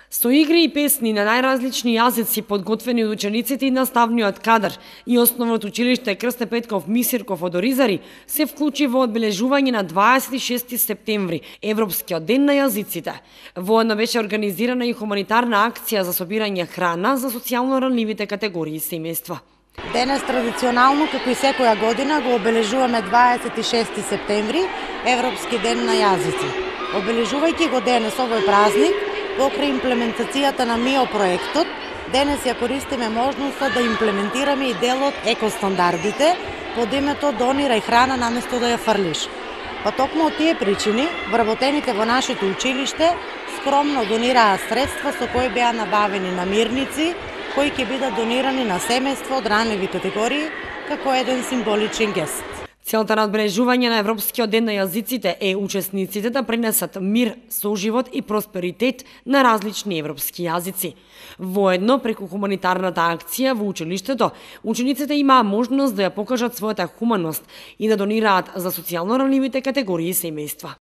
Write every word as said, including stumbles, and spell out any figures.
Со игри и песни на најразлични јазици подготвени од учениците и наставниот кадар и основното училиште Крсте Петков Мисирков од Оризари се вклучи во одбележување на дваесет и шести септември, Европскиот ден на јазиците. Воедно беше организирана и хуманитарна акција за собирање храна за социјално ранливите категории семејства. Денес традиционално, како и секоја година, го обележуваме дваесет и шести септември, Европски ден на јазици. Обележувајќи го денес овој празник, покрај имплементацијата на МИО проектот, денес ја користиме можноста да имплементираме и дел од екостандардите под името "Донирај храна наместо да ја фрлиш". Па токму од тие причини, вработените во нашето училиште скромно донираа средства со кои беа набавени намирници, кои ќе бидат донирани на семејство од ранливи категории како еден символичен гест. Целта на одбележување на Европскиот ден на јазиците е учесниците да пренесат мир, соживот и просперитет на различни европски јазици. Воедно, преку хуманитарната акција во училиштето, учениците имаа можност да ја покажат својата хуманост и да донираат за социјално ранливите категории семејства.